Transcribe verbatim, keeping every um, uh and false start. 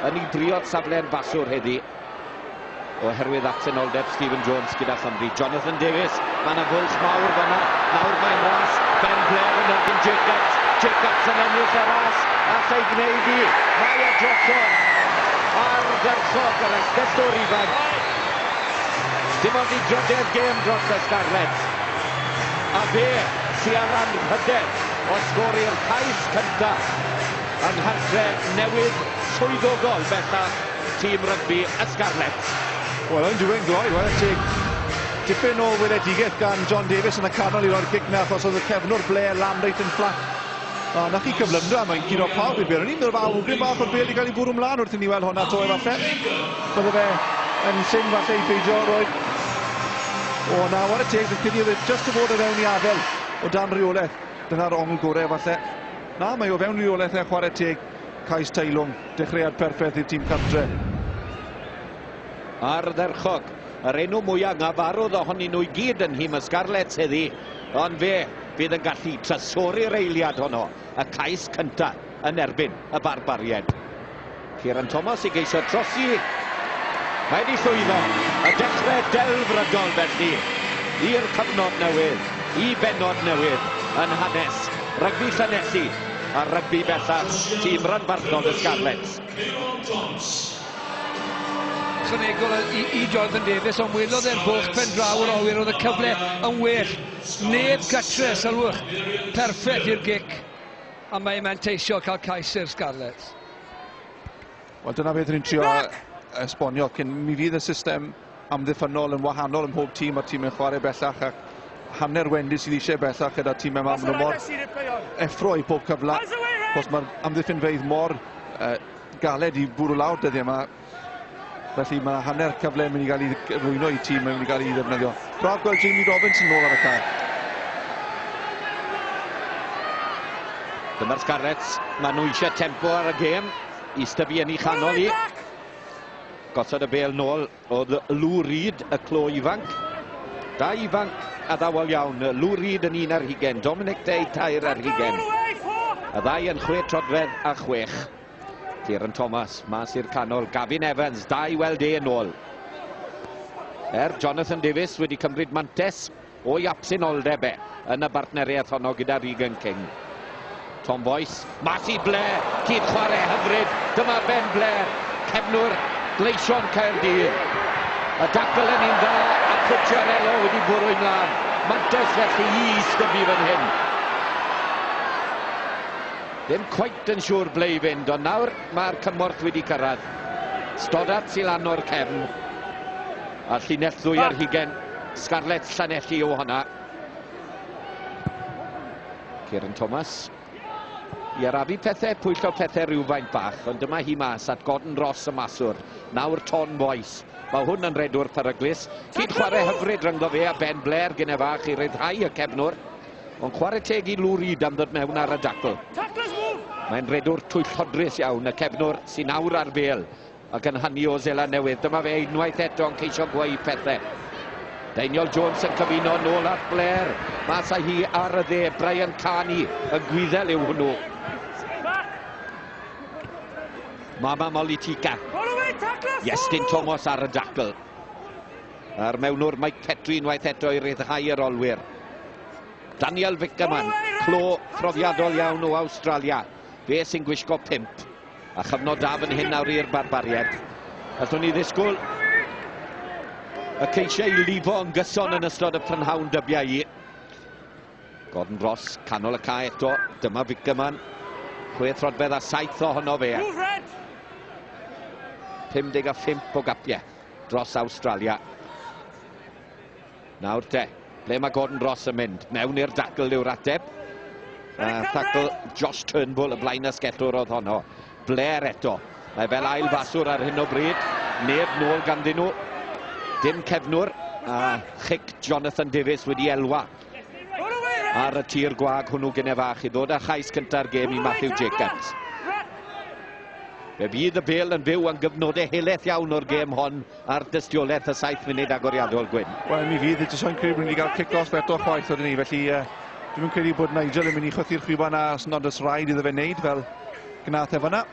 Yn ei briod safle'n faswr heddi oherwydd absenoldeb Stephen Jones gyda Chymru. Jonathan Davies, mae yna fwlch mawr fanna. Nawr mae'n ras. Ben Blair yn erbyn Jacobs. Jacobs yn ennill y ras. Allai gwneud i. Mae e drosodd. Ardderchog yr asgellwr ifanc. Dim ond i drydedd gêm dros y Scarlets. A fe sy ar anrhydedd o sgori'r cais cyntaf yng nghartre newydd swyddogol bellach tîm rygbi y Scarlets. Wel, yn diwedd gloi, wel, teg. Tipyn o weledigaeth gan John Davies yn y canol i roi'r gic na, achos oedd y cefnwr Blair lan reit yn fflat. A na chi cyflymdra, mae'n curo pawb i'r bêl. O'n i'n meddwl fel awgrym bach o'r bêl i gael ei bwrw mlaen wrth i ni weld hwnna to efallai. Bydde fe yn syn falle i beidio roed. O, na, war y teg, fi'n credu oedd e jyst o fod o fewn i adael o dan reolaeth. Dyna'r ongl gorau falle. Na, mae o fewn reolaeth e chwarae teg. Cais teilwng, dechreuad perffaith i'r tîm cartre. Ardderchog, yr enw mwyaf ngafarodd ohonyn nhw i gyd yn nhîm y Scarlets heddi, ond fe fydd yn gallu trysori'r eiliad honno, y cais cyntaf yn erbyn y Barbariaid. Kieran Thomas i geisio trosi, mae wedi llwyddo, y dechrau delfrydol felly, i'r cyfnod newydd, i bennod newydd yn hanes rygbi Llanelli a rygbi bellach tîm ranbarthol y Scarlets. Ychwanegol i, i Jonathan Davies, ond welodd e'r bwlch pen draw yr olwyr, oedd y cyfle yn well. Neb gatre, sylwch, perffaith i'r gic, a mae'n manteisio cael cais i'r Scarlets. Wel, dyna beth ni'n trio esbonio, cyn mi fydd y system amddiffynnol yn wahanol ym mhob tîm a'r tîm yn chwarae bellach, ac hanner wendid sydd eisiau bellach gyda tîm yma, maen nhw mor effro i pob cyfle, achos mae'r amddiffynfeydd mor uh, galed i bwrw lawr dyddiau yma. Felly mae hanner cyfle yn mynd i gael ei rwyno i tîm, yn mynd i gael ei ddefnyddio. Braf gweld Jamie Robinson nôl ar y cae. Dyma'r Scarlets, maen nhw eisiau tempo ar y gêm i styfu yn ei chanol i. Gosod y bêl nôl oedd Lou Reed, y clo ifanc. Da ifanc addawol iawn, Lou Reed yn un ar hugain, Dominic Day tair ar hugain. Y ddau yn chwe troedfedd a chwech. Kieran Thomas, mas i'r canol, Gavin Evans, da i weld e yn ôl. Er Jonathan Davies wedi cymryd mantes o'i absenoldeb e yn y bartneriaeth honno gyda Regan King. Tom Boyce, mas i Blair, cyd chwarae hyfryd, dyma Ben Blair, cefnwr Gleision Caerdydd. Y dacl yn un dda, a Cucciarello wedi bwrw ymlaen. Mantes felly i styfu fan hyn. Ddim cweit yn siŵr ble i fynd, ond nawr mae'r cymorth wedi cyrraedd. Stoddart sy'n lan o'r cefn. A llinell ddwy ar hugain. Scarlets Llanelli o hwnna. Kieran Thomas. I arafu pethau, pwyllo pethau rhywfaint bach, ond dyma hi mas at Gordon Ross y maswr. Nawr Tom Boyce. Mae hwn yn redwr peryglus. Cyd chwarae hyfryd rhyngddo fe a Ben Blair gyda fach i ryddhau y cefnwr. Ond chwarae teg i Lou Reed am ddod mewn ar y dacl. Mae'n redwr twyllodrus iawn, y cefnwr sy'n awr ar bêl ac yn hynny o Seland Newydd. Dyma fe unwaith eto yn ceisio gweu pethau. Daniel Jones yn cyfuno nôl at Blair. Mas â hi ar y dde, Brian Carney, y Gwyddel yw hwnnw. Mama Molitika. Iestyn Thomas ar y dacl. A'r mewnwr Mike Petrie unwaith eto i ryddhau yr olwyr. Daniel Vickerman, clo profiadol iawn o Awstralia. Fe sy'n gwisgo pump. A chyfnod da fan hyn nawr i'r Barbariaid. Allwn ni ddisgwyl y ceisiau i lifo yn gyson yn ystod y prynhawn dybiau i. Gordon Ross, canol y cae eto. Dyma Vickerman. Chwe throdfedd a saith ohono fe. pum deg a phump o gapiau dros Awstralia. Nawr te, ble mae Gordon Ross yn mynd? Mewn i'r dacl yw'r ateb. Uh, Tacl Josh Turnbull, y blaen asgellwr oedd honno. Blair eto. Mae fel ail faswr ar hyn o bryd. Neb nôl ganddyn nhw. Dim cefnwr. A chic Jonathan Davies wedi elwa ar y tir gwag hwnnw gyda fach i ddod â chais cynta'r gêm i Matthew Jacobs. Fe fydd y bêl yn fyw am gyfnodau helaeth iawn o'r gêm hon ar dystiolaeth y saith munud agoriadol, Gwyn. Wel, mi fydd, jyst o'n credu bod ni wedi cael kick-off eto chwaith oedden ni, felly uh, dwi'n credu bod Nigel yn mynd i chwythu'r chwiban a os nad oes rhaid iddo fe wneud fel gnath e fanna.